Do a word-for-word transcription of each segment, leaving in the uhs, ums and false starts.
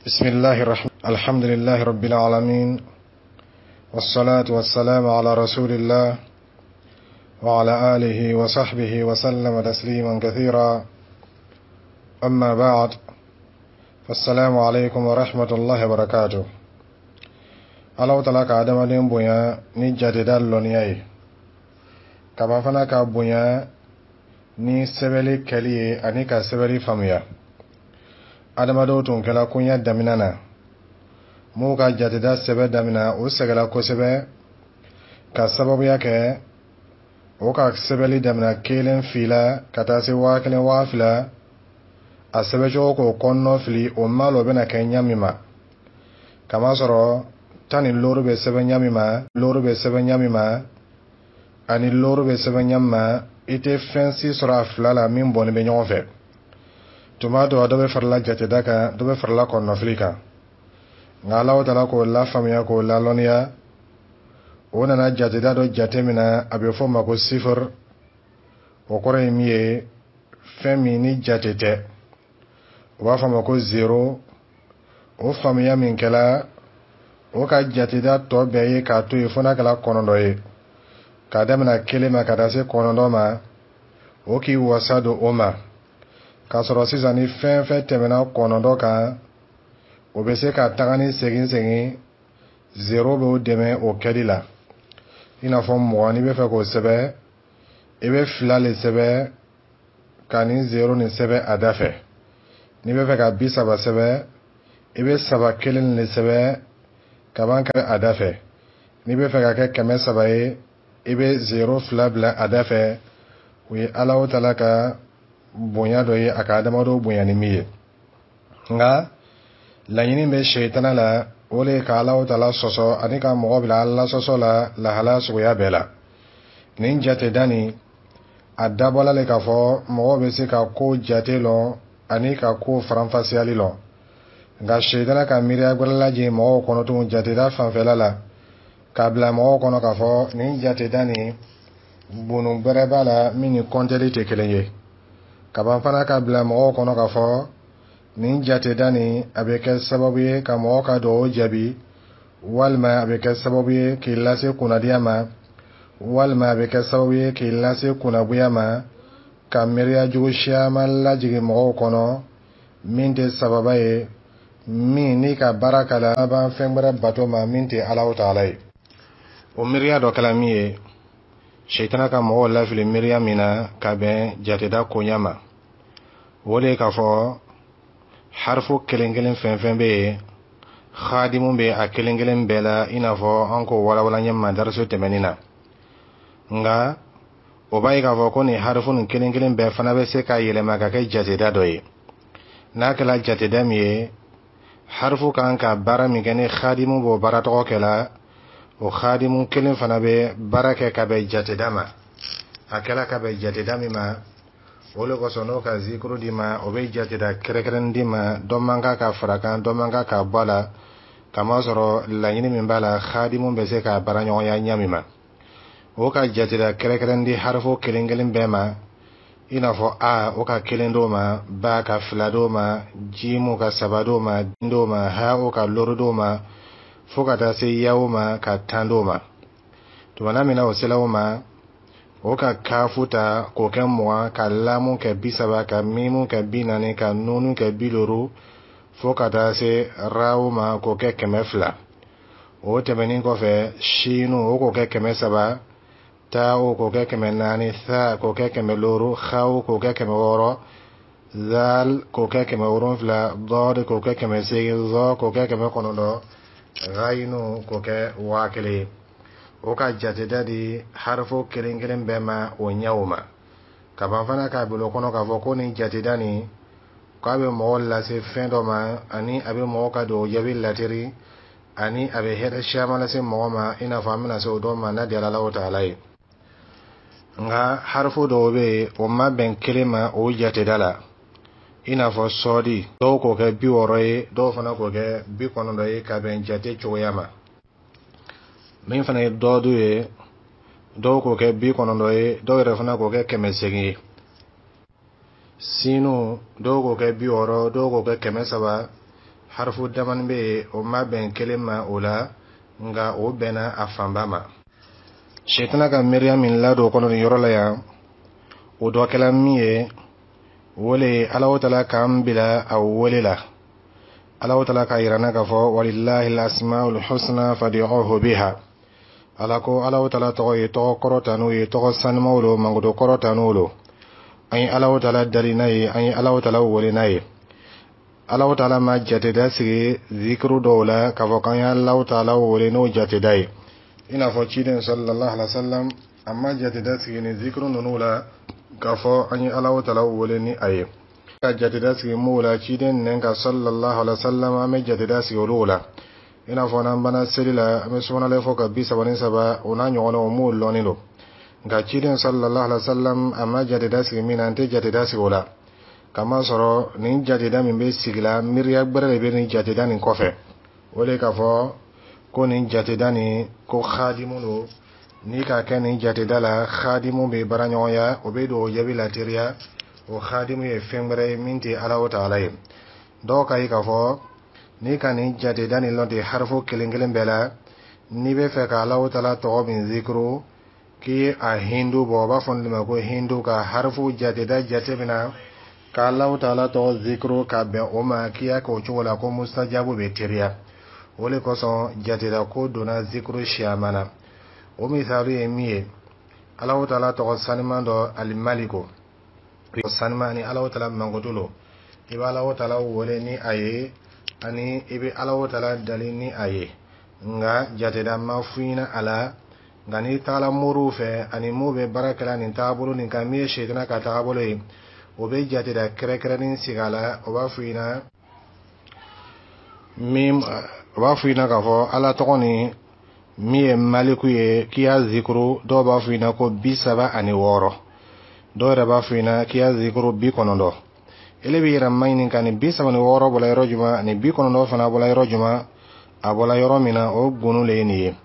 بسم الله الرحمن الحمد لله رب العالمين والصلاة والسلام على رسول الله وعلى آله وصحبه وسلم تسليما كثيرا أما بعد فالسلام عليكم ورحمة الله وبركاته Alahu Taala ka adamaden bonya ni jateda lɔnniya ye kaba fana ka bonya ni sɛbɛli kɛli ye ani ka sɛbɛli faamuya. Adamadenw tun kɛla koɲɛ daminɛ na m'u ka jateda sɛbɛ daminɛ, o sɛgɛla kosɛbɛ ka sababuya kɛ o ka sɛbɛli daminɛ kelen fila ka taa se waa kelen, waa fila, a sɛbɛcogo k'o kɔnɔnɔ fili, o ma lɔ o bɛna kɛ ɲa min ma, kamasɔrɔ tan ni looru bɛ sɛbɛn ɲa min ma, looru bɛ sɛbɛn ɲa min ma ani looru bɛ sɛbɛn ɲa min ma, i tɛ fɛn si sɔrɔ a fila la min bɔnnen bɛ ɲɔgɔn fɛ. Tuma dɔ, dɔ bɛ farala jateda kan, dɔ bɛ farala kɔnɔnafili kan. Nka Alahu Taala k'o lafaamuya, k'o lalɔnniya, o nana jateda dɔ jate min na, a bɛ fɔ o ma ko sifir. O kɔrɔ ye min ye, fɛn min ni jate tɛ, o b'a fɔ a ma ko zéro. O faamuya min kɛla, o ka jateda tɔ bɛɛ ye k'a to yen fo n'a kɛra kɔnɔntɔn ye, k'a daminɛ kelen ma ka taa se kɔnɔntɔn ma, o k'i wasa don o ma. K'a sɔrɔ sisan, ni fɛn fɛn tɛmɛna kɔnɔntɔn kan, o bɛ se ka taga ni segin segin, zéro b'o dɛmɛ o kɛli la. I n'a fɔ mugan, n'i bɛ fɛ k'o sɛbɛn, i bɛ fila le sɛbɛn ka nin zéro nin sɛbɛn a da fɛ. N'i bɛ fɛ ka bi saba sɛbɛn, i bɛ saba kelen le sɛbɛn ka ban kɛ a da fɛ. N'i bɛ fɛ ka kɛ kɛmɛ saba ye, i bɛ zéro fila bila a da fɛ. O ye Alahu Taala ka bonya dɔ ye, a ka adamadenw bonya ni min ye. Nka laɲini bɛ sɛyitana la, o de ye ka Alahu Taala sɔsɔ ani ka mɔgɔ bila Ala sɔsɔ la lahala suguya bɛɛ la. Nin jateda nin, a dabɔla le k'a fɔ mɔgɔw bɛ se ka ko jate lɔn ani ka ko faranfasiyali lɔn. Nka sɛyitana ka miiriya gbɛrɛ lajigin mɔgɔw kɔnɔ tugun jateda fanfɛla la, k'a bila mɔgɔw kɔnɔ k'a fɔ nin jateda nin, bunu gbɛrɛ b'a la min ni kɔntɛli tɛ kelen ye. Kaban fana ka bila mɔgɔw kɔnɔ k'a fɔ nin jateda nin, a bɛ kɛ sababu ye ka mɔgɔ ka dugawu jaabi, walima a bɛ kɛ sababu ye k'i lase kunnadiya ma, walima a bɛ kɛ sababu ye k'i lase kunnagoya ma, ka miiriya jugu siyaman lajigin mɔgɔw kɔnɔ min tɛ sababa ye, min n'i ka baara k'a laban fɛn wɛrɛ bato ma min tɛ Alahu Taala ye. O miiriya dɔ kɛla min ye, sɛyitana ka mɔgɔw lafili miiriya min na ka bɛn jateda koɲa ma, o de ye k'a fɔ harifu kelen kelen fɛn fɛn bɛ yen, xaadimu bɛ a kelen kelen bɛɛ la, i n'a fɔ an k'o walawala ɲɛ ma dariso tɛmɛnin na. Nka o b'a ye k'a fɔ ko nin harifu nin kelen kelen bɛɛ fana bɛ se ka yɛlɛma ka kɛ jateda dɔ ye. N'a kɛra jateda min ye, harifu kan ka baara min kɛ, ni xaadimu b'o baara tɔgɔ kɛ la, o xaadimu kelen fana bɛ baara kɛ ka bɛn jateda ma, a kɛla ka bɛn jateda min ma. O le kosɔn, n'o ka zikuru di ma, o bɛ jateda kɛrɛnkɛrɛnnen di ma, dɔ man kan ka fara kan, dɔ man kan ka bɔ a la, kamasɔrɔ laɲini min b'a la, xaadimu bɛ se k'a baara ɲɔgɔnya ɲa min ma. O ka jateda kɛrɛnkɛrɛnnen di harifu kelen kelen bɛɛ ma, i n'a fɔ a, o ka kelen d'o ma, ba ka fila d'o ma, jimu ka saba d'o ma, d'o ma, ha, o ka looru d'o ma, fo ka taa se yawo ma, ka tan d'o ma. Tumana min na o sela o ma, o ka kafu ta k'o kɛ mugan, ka lamu kɛ bi saba, ka mimu kɛ bi naani, ka nunu kɛ bi duuru, fo ka taa se rawo ma, k'o kɛ kɛmɛ fila. O tɛmɛnen kɔfɛ, sinu, o k'o kɛ kɛmɛ saba, taawo k'o kɛ kɛmɛ naani, tha k'o kɛ kɛmɛ looru, xawo k'o kɛ kɛmɛ wɔɔrɔ, zal k'o kɛ kɛmɛ wolonfila, dɔɔd k'o kɛ kɛmɛ seegin, zɔ k'o kɛ kɛmɛ kɔnɔntɔn, ghayinu k'o kɛ waa kelen ye. O ka jateda di harifo kelen kelen bɛɛ ma o ɲɛw ma. Ka ban fana k'a bila o kɔnɔ k'a fɔ ko nin jateda nin, k'a bɛ mɔgɔ lase fɛn dɔ ma, ani a bɛ mɔgɔ ka dugawu jaabi lateri, ani a bɛ hɛrɛ siyaman lase mɔgɔ ma, i n'a fɔ an bɛna se o dɔ ma n'a diyara Alahu Taala ye. Nka harifu dɔw bɛ yen, o ma bɛn kelen ma o jateda la, i n'a fɔ sɔɔdi, dɔw k'o kɛ bi wɔɔrɔ ye, dɔw fana k'o kɛ bi kɔnɔntɔn ye ka bɛn jate cogoya ma. Min fana ye dɔɔdu ye, dɔw k'o kɛ bi kɔnɔntɔn ye, dɔw yɛrɛ fana k'o kɛ kɛmɛ seegin ye. Sinu, dɔw k'o kɛ bi wɔɔrɔ, dɔw k'o kɛ kɛmɛ saba. Harifu damani bɛ yen, o ma bɛn kelen ma o la, nka o bɛnna a fanba ma. Sɛtana ka miiriya min ladon o kɔnɔ nin yɔrɔ la yan, o dɔ kɛla min ye, o le ye Alahu Taala k'an bila a wele la. Alahu Taala k'a yira n na k'a fɔ: walillahi al-asmaul husna fad'uhu biha. Ala ko Alahu Taala tɔgɔ ye tɔgɔ kɔrɔta n'o ye, tɔgɔ sanumaw lo, mankutu kɔrɔta n'o lo. An ye Alahu Taala dali n'a ye, an ye Alahu Taala wele n'a ye. Alahu Taala ma jateda sigi zikiru dɔw la k'a fɔ k'an ye Alahu Taala wele n'o jateda ye, i n'a fɔ ciden sallallahu alaihi wa sallam, a ma jateda sigi ni zikiru ninnu la k'a fɔ an ye Alahu Taala wele ni a ye. Ka jateda sigi m'o la, ciden nɛn ka sallallahu alaihi wa sallam, an bɛ jateda sigi olu la, i n'a fɔ n'an banna seli la, an bɛ subanalayi fɔ ka bi saba ni saba, o n'a ɲɔgɔnnaw, m'o lɔnni don. Nka ciden sallallahu alaihi wa sallam, a ma jateda sigi min na, an tɛ jateda sigi o la, kamasɔrɔ nin jateda min bɛ sigi la, miiriya gbɛrɛ de bɛ nin jateda nin kɔfɛ. O de k'a fɔ ko nin jateda nin ko hadimu don. N'i k'a kɛ nin jateda la, hadimu bɛ baaraɲɔgɔnya, o bɛ don o jaabi la teriya. O hadimu ye fɛn wɛrɛ ye min tɛ Ala o taala ye. Dɔw ka ye k'a fɔ n'i ka nin jateda nin lɔn ten, harifu kelen kelen bɛɛ la, n'i bɛ fɛ ka Ala o taala tɔgɔ min zikiru, k'i ye a hindu bɔ, o b'a fɔ nin ma ko hindu, ka harifu jateda jate minɛ ka Alahu Taala tɔgɔ zikiru ka bɛn o ma, k'i y'a kɛ o cogo la, ko mustajabu bɛ teriya. O de kosɔn jateda ko donna zikiru siyaman na. O misali ye min ye, Alahu Taala tɔgɔ saniman dɔ, Alimaliko saniman, ni Alahu Taala mankutu lo, i bɛ Alahu Taala wele ni a ye, ani i bɛ Alahu Taala dali ni a ye, nka jateda ma f'i ɲɛna a la. Nka n'i tagala moriw fɛ ani mun bɛ baara kɛla nin taabolo nin kan, min ye sɛtana ka taabolo ye, o bɛ jateda kɛrɛnkɛrɛnnin sigi a la. O b'a f'i ɲɛna min, o b'a f'i ɲɛna k'a fɔ Ala tɔgɔ nin min ye Maliku ye, k'i y'a zikuru, dɔw b'a f'i ɲɛna ko bi saba ani wɔɔrɔ, dɔw yɛrɛ b'a f'i ɲɛna k'i y'a zikuru bi kɔnɔntɔn. Ele b'i yɛrɛ maɲini ka nin bi saba ni wɔɔrɔ bɔla yɔrɔ jumɛn, nin bi kɔnɔntɔn fana bɔla yɔrɔ jumɛn? A bɔla yɔrɔ min na, o gunu le ye nin ye,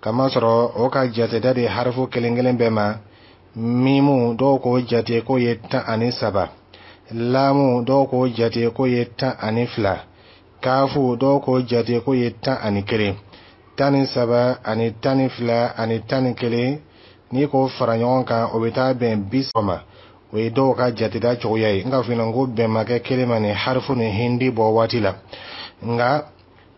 kamasɔrɔ o ka jateda de harifu kelen kelen bɛɛ ma. Mimu, dɔw k'o jate k'o ye tan ani saba. Lamu, dɔw k'o jate k'o ye tan ani fila. Kafu, dɔw k'o jate k'o ye tan ani kelen. Tan ni saba ani tan ni fila ani tan ni kelen, n'i k'o fara ɲɔgɔn kan, o bɛ taa bɛn bi saba ma. O ye dɔw ka jateda cogoya ye. N ka f'i ɲɛna ko bɛn ma kɛ kelen ma nin harifu ni hindi bɔ waati la. Nka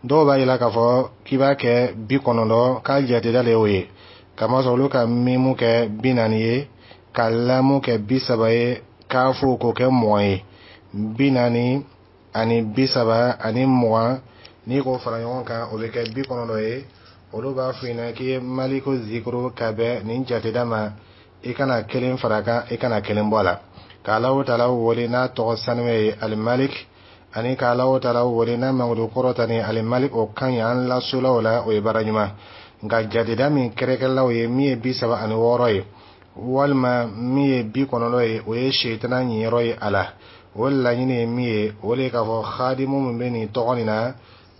dɔw b'a yira k'a fɔ k'i b'a kɛ bi kɔnɔntɔn, k'a jateda de y'o ye, kamasɔrɔ olu ka mimu kɛ bi naani ye, ka lamu kɛ bi saba ye, kafu k'o kɛ mugan ye. Bi naani ani bi saba ani mugan, n'i k'o fara ɲɔgɔn kan, o bɛ kɛ bi kɔnɔntɔn ye. Olu b'a f'i ɲɛna k'i ye Maliko zikuru ka bɛn nin jateda ma, i kana kelen fara kan, i kana kelen bɔ a la, ka Alahu Taala wele n'a tɔgɔ sanuya ye, Alimalik, ani ka Alahu Taala wele n'a mankutu kɔrɔta ni Alimalik, o kan ɲi. An lasola o la, o ye baara ɲuman. Nka jateda min kɛrɛkɛlaw ye, min ye bi saba ani wɔɔrɔ ye walima min ye bi kɔnɔntɔn ye, o ye sɛtana ɲiyɔrɔ ye a la. O laɲini ye min ye, o de ye k'a fɔ hadimu min bɛ nin tɔgɔ nin na,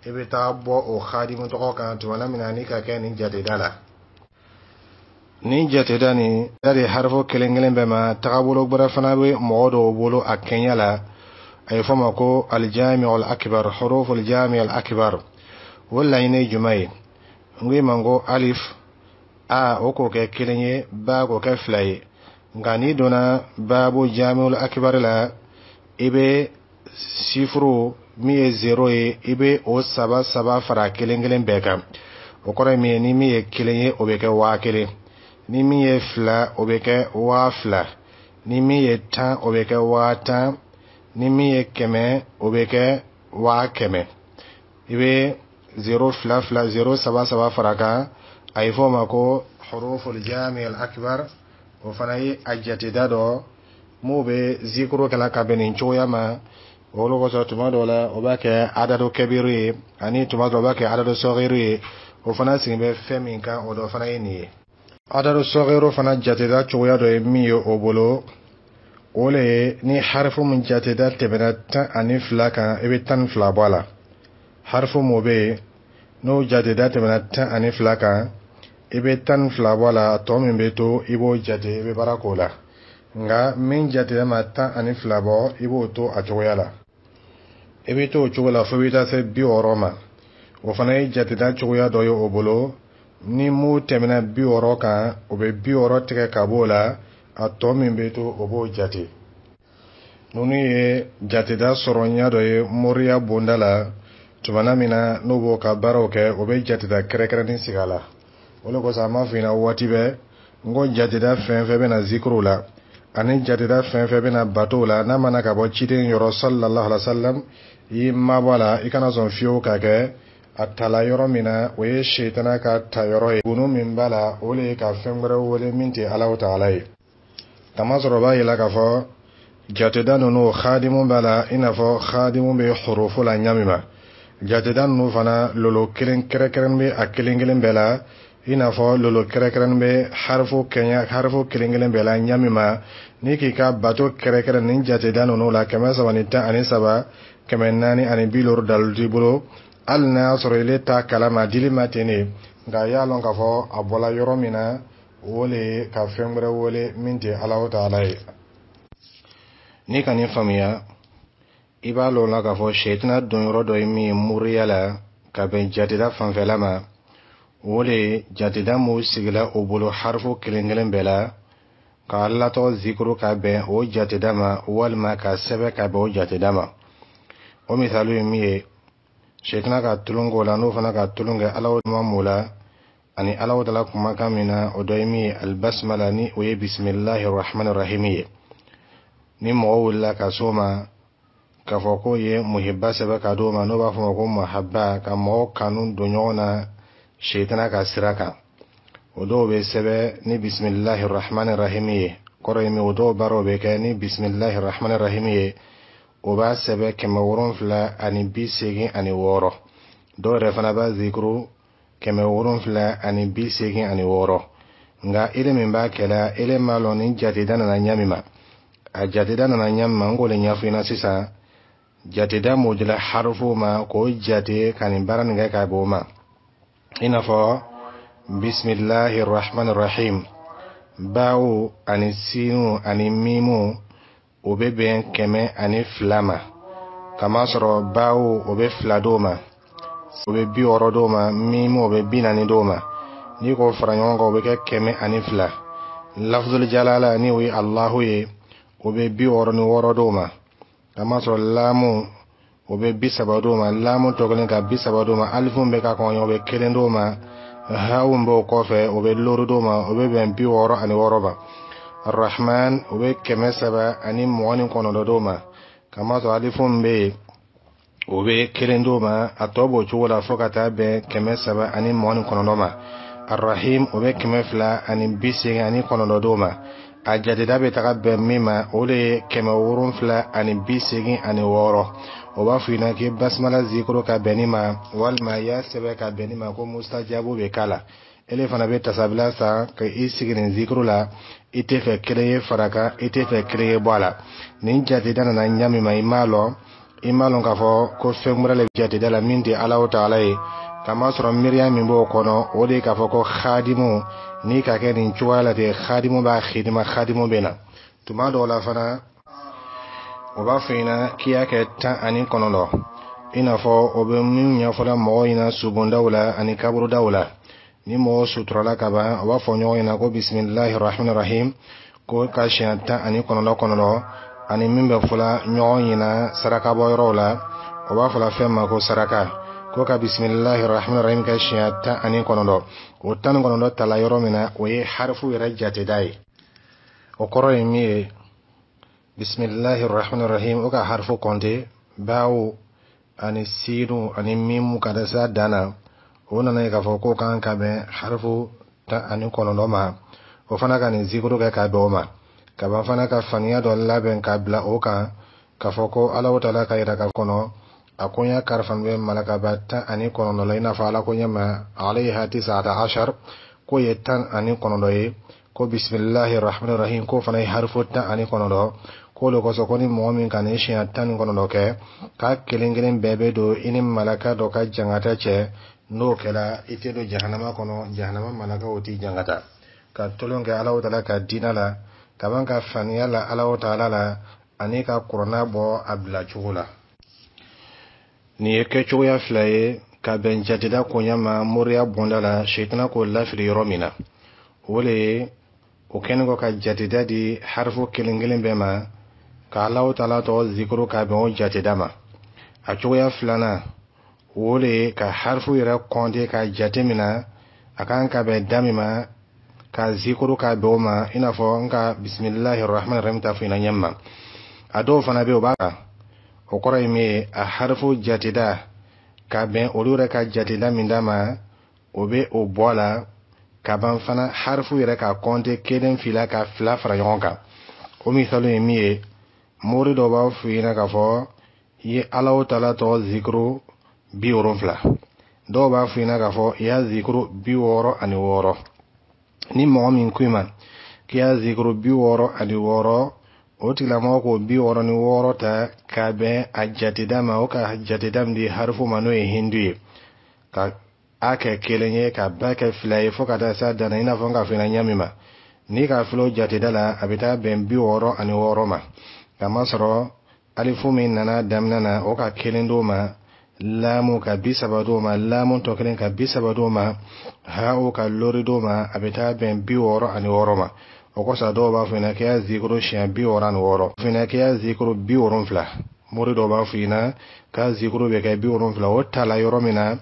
i bɛ taa bɔ o hadimu tɔgɔ kan tuma min na n'i ka kɛ nin jateda la. Nin jateda nin da de harifu kelen kelen bɛɛ ma. Tagabolo gbɛrɛ fana bɛ mɔgɔ dɔw bolo a kɛɲɛ la, a ye fɔ ma ko alijami al akbar, huruf aljami al akbar. O laɲini ye jumɛn ye? N ko i ma ko alif a, o k'o kɛ kelen ye, ba k'o kɛ fila ye. Nka n'i donna baabu jamiul akbar la, i bɛ sifuru min ye zero ye, i bɛ o saba saba fara kelen kelen bɛɛ kan. O kɔrɔ ye min ye, ni min ye kelen ye, o bɛ kɛ waa kelen, ni min ye fila, o bɛ kɛ waa fila, ni min ye tan, o bɛ kɛ waa tan, ni min ye kɛmɛ, o bɛ kɛ waa kɛmɛ. I bɛ zero fila fila, zero saba saba fara kan, a ye fɔ o ma ko huruful jami al akbar. O fana ye a jateda dɔ m'o bɛ zikuru kɛla ka bɛn nin cogoya ma. Olu kosɔn, tuma dɔw la, o b'a kɛ adadu kɛbiru ye, ani tuma dɔw o b'a kɛ adadu sɔgiru ye. O fana sigi bɛ fɛn min kan, o dɔ fana ye nin ye. Adadu sɔgiru fana jateda cogoya dɔ ye min ye o bolo, o le ye ni harifu min jateda tɛmɛna tan ani fila kan, i bɛ tan ni fila bɔ a la. Harifu mun bɛ yen n'o jateda tɛmɛna tan ani fila kan, i bɛ tan ni fila bɔ a la, tɔ min bɛ to, i b'o jate, i bɛ baara k'o la. Nka min jateda ma tan ani fila bɔ, i b'o to a cogoya la. I bɛ to o cogo la fo i bɛ taa se bi wɔɔrɔ ma. O fana ye jateda cogoya dɔ ye o bolo. Ni mun tɛmɛna bi wɔɔrɔ kan, o bɛ bi wɔɔrɔ tigɛ ka b'o la, a tɔ min bɛ to, o b'o jate. Ninnu ye jateda sɔrɔ ɲɛ dɔ ye moriya bonda la. Tumana min na n'o b'o ka baaraw kɛ, o bɛ jateda kɛrɛnkɛrɛnnen sigi a la. O de kosɔn an b'a f'i ɲɛna waati bɛɛ n ko jateda fɛn fɛn bɛ na zikiriw la ani jateda fɛn fɛn bɛ na batow la, n'a mana ka bɔ ciden yɔrɔ sallallahu alaihi wa sallam, i y'i mabɔ a la, i kana sɔn fiyewu ka kɛ a tala yɔrɔ min na, o ye setana ka ta yɔrɔ ye. Gunu min b'a la, o de ye ka fɛn wɛrɛ wele min tɛ Alahu taala ye. Kamasɔrɔ o b'a yira k'a fɔ jateda ninnu hadimu b'a la, i n'a fɔ hadimu bɛ hurufu la ɲa min ma. Jateda ninnu fana, lolo kelen kɛrɛnkɛrɛnnen bɛ a kelen kelen bɛɛ la, i n'a fɔ lolo kɛrɛnkɛrɛnnen bɛ harifu kɛɲɛ harifu kelen kelen bɛɛ la ɲa min ma. N'i k'i ka bato kɛrɛnkɛrɛn nin jateda ninnu la, kɛmɛ saba ni tan ani saba, kɛmɛ naani ani bi loru dalilu t'i bolo, hali n'a y'a sɔrɔ ile t'a kalama dili ma ten de. Nka a y'a lɔn k'a fɔ a bɔla yɔrɔ min na, o le ye ka fɛn wɛrɛ wele min tɛ Alahu taala ye. N'i ka nin faamuya, i b'a lɔn la k'a fɔ sɛtana donyɔrɔ dɔ ye min ye moriya la ka bɛn jateda fanfɛla ma, o le ye jateda m'o sigila o bolo harifu kelen kelen bɛɛ la, ka Ala tɔgɔ zikuru ka bɛn o jateda ma, walima ka sɛbɛn ka bɛn o jateda ma. O misali ye min ye, sɛtana ka tulon k'o la, n'o fana ka tulon kɛ Ala ma m'o la ani Ala taala kumakan min na, o dɔ ye min ye alibasumala, ni o ye bisimilahi rahmani rahimi ye. Ni mɔgɔ wulila ka s'o ma k'a fɔ k'o ye muhiba sɛbɛn ka d'o ma, n'o b'a fɔ ma ko muhaba, ka mɔgɔw kanu don ɲɔgɔn na sɛtana ka sira kan, o dɔw bɛ sɛbɛn ni bisimilahi rahmani rahimi ye. Kɔrɔ ye min, o dɔw baaraw bɛ kɛ ni bisimilahi rahmani rahimi ye. O b'a sɛbɛn kɛmɛ wolonfila ani bi seegin ani wɔɔrɔ. Dɔw yɛrɛ fana b'a zikuru kɛmɛ wolonfila ani bi seegin ani wɔɔrɔ. Nka ele min b'a kɛla, ele m'a lɔn ni jateda nana ɲa min ma. A jateda nana ɲa min ma, n k'o le ɲɛfɔ i ɲɛna sisan. Jateda m'o dila harufu ma k'o jate ka nin baara nin kɛ ka b'o ma, i n'a fɔ bisimilahi rahmani rahim, bawo ani sinu ani mimu, o bɛ bɛn kɛmɛ ani fila ma. Kamasɔrɔ bawo, o bɛ fila d'o ma, o bɛ bi wɔɔrɔ d'o ma, mimu, o bɛ bi naani d'o ma. N'i k'o fara ɲɔgɔn kan, o bɛ kɛ kɛmɛ ani fila. Lafuzul jalala, ni o ye Alahu ye, o bɛ bi wɔɔrɔ ni wɔɔrɔ d'o ma. Kamasɔrɔ laamu, o bɛ bi saba d'o ma, laamu tɔ kelen ka bi saba d'o ma, alifu bɛ ka kɔn, o bɛ kelen d'o ma, hawu b'o kɔfɛ, o bɛ looru d'o ma, o bɛ bɛn bi wɔɔrɔ ani wɔɔrɔ ma. Rahman, o bɛ kɛmɛ saba ani mugan ni kɔnɔntɔn d'o ma, kamasɔrɔ alifu bɛ yen, o bɛ kelen d'o ma. A tɔ b'o cogo la fo ka taa bɛn kɛmɛ saba ani mugan ni kɔnɔntɔn ma. Arahim, o bɛ kɛmɛ fila ani bi seegin ani kɔnɔntɔn d'o ma. A jateda bɛ taga bɛn min ma, o de ye kɛmɛ wolonfila ani bi seegin ani wɔɔrɔ. O b'a fɔ i ɲɛna k'i basimala zikuru ka bɛn nin ma, walima i y'a sɛbɛn ka bɛn nin ma, ko mustajabu bɛ k'a la. Ele fana bɛ tasabila san ka i sigi nin zikuru la, i tɛ fɛ kelen ye fara kan, i tɛ fɛ kelen ye bɔ a la. Nin jateda nana ɲa min ma, i m'a lɔn, i m'a lɔn k'a fɔ ko fɛn wɛrɛ le jateda la min tɛ Alahu taala ye. Kamasɔrɔ miiriya min b'o kɔnɔ, o de ye k'a fɔ ko hadimu n'i ka kɛ nin cogoya la ten, hadimu b'a xidima, hadimu bɛ na. Tuma dɔw la fana, o b'a fɔ i ɲɛna k'i y'a kɛ tan ani kɔnɔntɔn, i n'a fɔ o bɛ min ɲɛfɔla mɔgɔw ɲɛna subondaw la ani kaburudaw la. Ni mɔgɔw suturala ka ban, o b'a fɔ ɲɔgɔn ɲɛna ko bisimilahi rahmani rahim, ko ka siɲɛ tan ani kɔnɔntɔn kɔnɔntɔn, ani min bɛ fɔla ɲɔgɔn ɲɛna sarakabɔyɔrɔw la, o b'a fɔla fɛn ma ko saraka, ko ka bisimilahi rahmani rahim kɛ siɲɛ tan ani kɔnɔntɔn. O tan ni kɔnɔntɔn tala yɔrɔ min na, o ye harifu yɛrɛ jateda ye. O kɔrɔ ye min ye, bisimilahi rahmani rahim, o ka harifu kɔnte bawo ani sinu ani mimu ka da se dan na, o nana ye k'a fɔ k'o kan ka bɛn harifu tan ani kɔnɔntɔn ma. O fana ka nin zikuru kɛ ka bɛn o ma kaban fana, ka faniya dɔ labɛn ka bila o kan, k'a fɔ ko Alahu taala ka yira ka kɔnɔ a ko n y'a karifani bɛ malakaba tan ani kɔnɔntɔn la, i n'a fɔ Ala ko ɲɛ ma alayha tisata ashar, k'o ye tan ani kɔnɔntɔn ye, ko bisimilahi rahmani rahim, k'o fana ye harifu tan ani kɔnɔntɔn. K'o de kosɔn, ko ni mɔgɔ min ka nin siɲɛ tan ni kɔnɔntɔn kɛ, k'a kelen kelen bɛɛ bɛ don i ni malaka dɔ ka jangata cɛ. N'o kɛra, i tɛ don jahanama kɔnɔ, jahanama malakaw t'i jangata. Ka tolon kɛ Alahu taala ka diinɛ la kaban, ka faniya la Alahu taala la, ani ka kuranna bɔ a bila cogo la. Nin ye kɛcogoya fila ye ka bɛn jateda koɲa ma moriya bonda la, sitana k'o lafili yɔrɔ min na. O le ye o kɛlen kɔ ka jateda di harifu kelen kelen bɛɛ ma, ka Alahu Taala tɔgɔ zikuru ka bɛn o jateda ma. A cogoya filanan, o le ye ka harifu yɛrɛ kɔnte ka jate min na a kan ka bɛn da min ma, ka zikuru ka bɛn o ma, i n'a fɔ n ka bisimilahi rahman rahim ta fɔ ɲɛna ɲɛ ma. A dɔw fana bɛ yen, o b'a o kɔrɔ ye min ye, a harifu jateda ka bɛn olu yɛrɛ ka jateda min d'a ma, o bɛ o bɔ a la ka ban fana. Harifu yɛrɛ ka kɔnte kelen fila ka fila fara ɲɔgɔn kan, o misali ye min ye, mori dɔw b'a f'i ɲɛna k'a fɔ i ye Alahu Taala tɔgɔ zikuru bi wolonfila, dɔw b'a f'i ɲɛna k'a fɔ i y'a zikuru bi wɔɔrɔ ani wɔɔrɔ. Ni mɔgɔ min ko i ma k'i y'a zikuru bi wɔɔrɔ ani wɔɔrɔ, o tigilamɔgɔ k'o bi wɔɔrɔ ni wɔɔrɔ ta k'a bɛn a jateda ma, o ka jateda min di harifu ma, n'o ye hindu ye, ka a kɛ kelen ye, ka ba kɛ fila ye, fo ka taa s'a dan na, i n'a fɔ n ka f'i ɲɛna ɲɛ min ma. N'i k'a filɛ o jateda la, a bɛ taa bɛn bi wɔɔrɔ ani wɔɔrɔ ma, kamasɔrɔ alifu min nana daminɛ na, o ka kelen d'o ma, laamu ka bi saba d'o ma, laamu tɔ kelen ka bi saba d'o ma, hawo ka lori d'o ma, a bɛ taa bɛn bi wɔɔrɔ ani wɔɔrɔ ma. O kosɔn dɔw b'a fɔ ɲɛna k'i y'a zikuru siɲɛ bi wɔɔrɔ ani wɔɔrɔ, f'i k'i y'a zikuru bi wolonfila. Mori dɔw b'a f'i ɲɛna k'a zikuru bɛ kɛ bi wolonfila. O ta la yɔrɔ min na,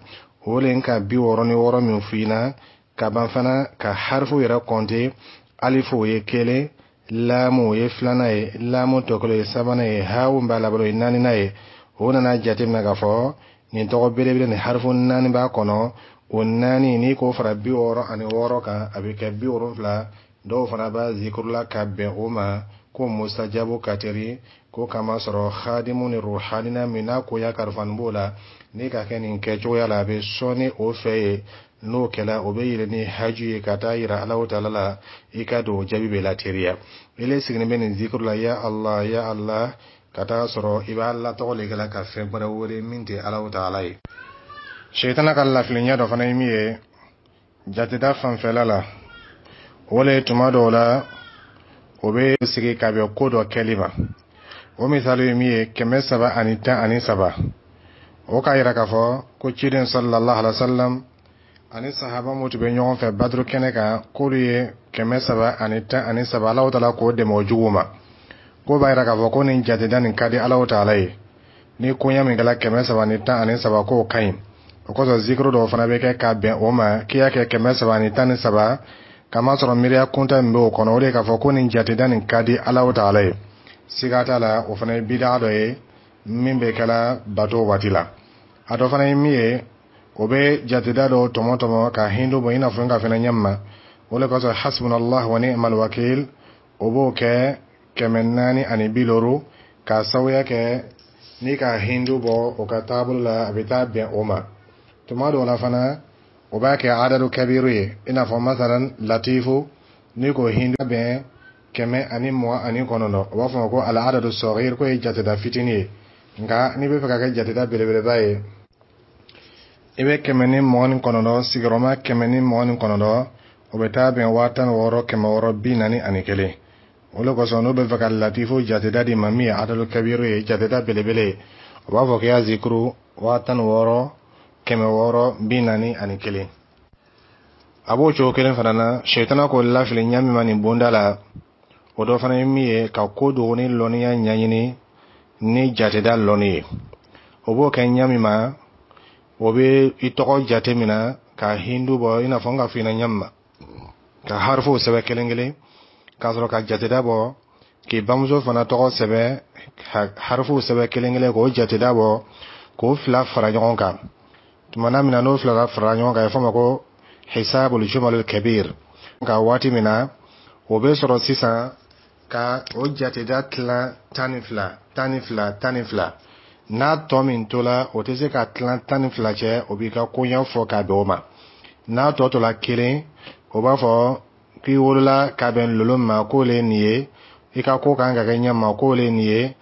o le ka bi wɔɔrɔ ni wɔɔrɔ min f'i ɲɛna ka ban fana, ka harifu yɛrɛ kɔnte: alifu o ye kelen, laamu o ye filanan ye, laamu tɔ kelen o ye sabanan ye, hawu b'a laban o ye naaninan ye. O nana jateminɛ k'a fɔ nin tɔgɔ belebele nin, harifu naani b'a kɔnɔ. O naani, n'i k'o fara bi wɔɔrɔ ani wɔɔrɔ kan, a bɛ kɛ bi wolonfila. Dɔw fana b'a zikurula ka bɛn o ma ko musajabu ka teri ko kama sɔrɔ hadimu ni ruhanina min n'a koya karifani b'o la. N'i ka kɛ nin kɛcogoya la, a bɛ sɔnni o fɛ yen. N'o kɛla, o bɛ yɛlɛ ni haju ye ka taa yira Alahu Taala la, i ka don jaabi bɛ lateriya. Ile sigilen bɛ nin zikuru la, ya Allah, ya Allah, ka taa sɔrɔ i b'a latɔgɔ le kɛla ka fɛn wɛrɛ wele min tɛ Alahu Taala ye. Sɛtana ka lafiliɲɛ dɔ fana ye min ye jateda fanfɛla la, o le tuma dɔw la o bɛ sigi ka bɛn ko dɔ kɛli ma. O misali ye min ye, kɛmɛ saba ani tan ani saba, o k'a yira k'a fɔ ko ciden sallallahu alaihi wa sallam ani sahaba mun tun bɛ ɲɔgɔn fɛ Baduru kɛnɛ kan, k'olu ye kɛmɛ saba ani tan ani saba. Alahu Taala k'o dɛmɛ o juguw ma. K'o b'a yira k'a fɔ ko nin jateda nin ka di Alahu Taala ye. Ni koɲɛ min kɛla kɛmɛ saba ani tan ani saba, k'o ka ɲi. O kosɔn zikiru dɔw fana bɛ kɛ ka bɛn o ma, k'i y'a kɛ kɛmɛ saba ani tan ni saba, kamasɔrɔ miiriya kunta min b'o kɔnɔ, o de ye k'a fɔ ko nin jateda nin ka di Alahu Taala ye. Siga t'a la, o fana ye bidaa dɔ ye min bɛ kɛla bato waati la. A dɔ fana ye min ye, o bɛ jateda dɔw tɔmɔ tɔmɔ ka hindu bɔ, i n'a fɔ n ka fɛnɛ ɲɛ ma. O de kosɔn hasbunallah wa ni'mal wakil, o b'o kɛ kɛmɛ naani ani bi duuru, k'a sababuya kɛ n'i ka hindu bɔ o ka taabolo la, a bɛ taa bɛn o ma. Tuma dɔw la fana, o b'a kɛ adadu kabiru ye, i n'a fɔ masalan latifu, n'i ko hindu bɛn kɛmɛ ani mugan ani kɔnɔntɔn, o b'a fɔ ma ko al adadu sɔgir, k'o ye jateda fitinin ye. Nka n'i bɛ fɛ ka kɛ jateda belebeleba ye, i bɛ kɛmɛ ni mugan ni kɔnɔntɔn sigiyɔrɔma kɛmɛ ni mugan ni kɔnɔntɔn, o bɛ taa bɛn waa tan ni wɔɔrɔ kɛmɛ wɔɔrɔ bi naani ani kelen. O de kosɔn n'u bɛ fɛ ka latifu jateda di ma, min ye adadu kabiru ye, jateda belebele ye, o b'a fɔ k'i y'a zikuru waa tan ni wɔɔrɔ kɛmɛ wɔɔrɔ bi naani ani kelen. A b'o cogo kelen fana na, sɛtana k'o lafili ɲɛ min ma nin bonda la, o dɔ fana ye min ye, ka ko dogo ni lɔnniya ɲɛɲini ni jateda lɔnni ye. O b'o kɛ ɲɛ min ma, o bɛ i tɔgɔ jate minɛ ka hindu bɔ, i n'a fɔ n ka f'i ɲɛna ɲɛ min ma, ka harifow sɛbɛn kelen kelen, k'a sɔrɔ ka jateda bɔ, k'i bamuso fana tɔgɔ sɛbɛn, ka harifow sɛbɛn kelen kelen, k'o jateda bɔ, k'o fila fara ɲɔgɔn kan. Tuma min na n'o fila fara ɲɔgɔn kan, a bɛ fɔ o ma ko hisabul jumalul kabir. Nka waati min na o bɛ sɔrɔ sisan ka o jateda tilan tan ni fila, tan ni fila, tan ni fila, n'a tɔ min tola, o tɛ se ka tilan tan ni fila cɛ, o b'i ka koɲɛ fɔ k'a bɛn o ma. N'a tɔ tola kelen, o b'a fɔ k'i wolola ka bɛn lolo ma, k'o le ye nin ye, i ka ko kan ka kɛ ɲɛ ma, k'o le ye nin ye,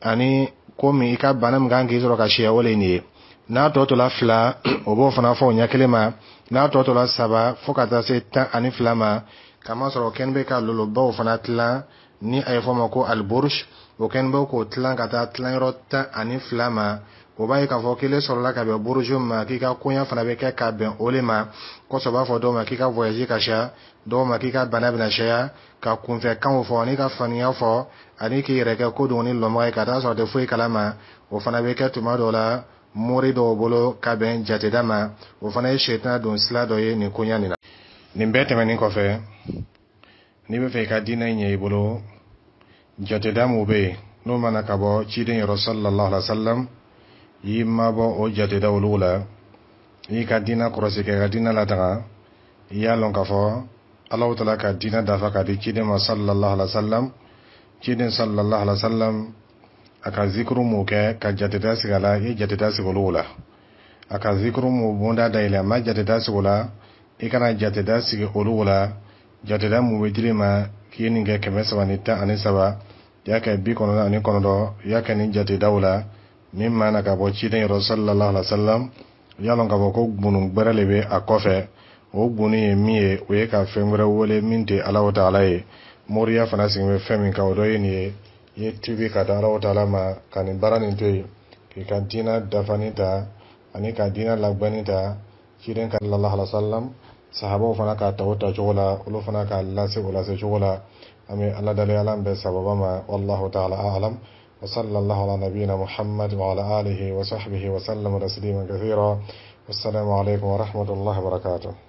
ani ko min i ka bana min kan k'i sɔrɔ ka siya, o le ye nin ye. N'a tɔ tola fila, o b'o fana fɔ o ɲɛ kelen ma. N'a tɔ tola saba, fo ka taa se tan ani fila ma, kamasɔrɔ o kɛlen bɛ ka lolobaw fana tilan ni a ye fɔ o ma ko aliburush, o kɛlen bɛ k'o tilan ka taa tilanyɔrɔ tan ani fila ma. O b'a ye k'a fɔ kelen sɔrɔla ka bɛn buruju ma, k'i ka koɲa fana bɛ kɛ ka bɛn o le ma. Kosɔn b'a fɔ dɔw ma k'i ka voyage ka siya, dɔw ma k'i ka bana bɛna siya, ka kunfɛ kanw fɔ ani ka faniya fɔ ani k'i yɛrɛ kɛ ko dɔgɔnin lɔnbaga ye, ka taa sɔrɔ a tɛ foyi kalama. O fana bɛ kɛ tuma dɔw la mori dɔw bolo ka bɛn jateda ma. O fana ye sɛtana don sila dɔ ye nin koɲa nin na. Nin bɛɛ tɛmɛnen kɔfɛ, n'i bɛ fɛ i ka diinɛ ɲɛ i bolo, jateda mun bɛ yen n'o mana ka bɔ ciden yɔrɔ sallallahu alaihi wa sallam, i mabɔ o jateda olu la, i ka diinɛ kɔlɔsi, kɛ ka diinɛ lataga. I y'a lɔn k'a fɔ Alahu taala ka diinɛ dafa ka di ciden ma sallallahu alaihi wa sallam. Ciden sallallahu alaihi wa sallam, a ka zikuru mun kɛ ka jateda sigi a la, i ye jateda sigi olu la. A ka zikuru mun bonda dayɛlɛ, a ma jateda sigi o la, i kana jateda sigi olu la. Jateda mun bɛ dir'i ma k'i ye nin kɛ kɛmɛ saba ni tan ani saba, i y'a kɛ bi kɔnɔntɔn ani kɔnɔntɔn, i y'a kɛ nin jatedaw la min ma na ka bɔ ciden yɔrɔ sallallahu alaihi wa sallam, i y'a lɔn k'a fɔ ko gbunu gbɛrɛ de bɛ a kɔfɛ. O gbunu ye min ye, o ye ka fɛn wɛrɛ wele min tɛ Alahu taala ye. Moriya fana sigi bɛ fɛn min kan, o dɔ ye nin ye. I ye tubi ka da Alahu taala ma ka nin baara nin to yen, k'i ka diinɛ dafani ta ani ka diinɛ lagbɛnni ta ciden ka sallallahu alaihi wa sallam. Sahabaw fana k'a ta o tacogo la, olu fana k'a lase o lase cogo la. An bɛ Ala dali, Ala bɛn sababa ma. Wallahu taala a'lam wa sallallahu ala nabiyina Muhammad wa ala alihi wa sahbihi wa sallam taslima kathira. Wassalamu alaikum wa rahmatullahi wa barakatuh.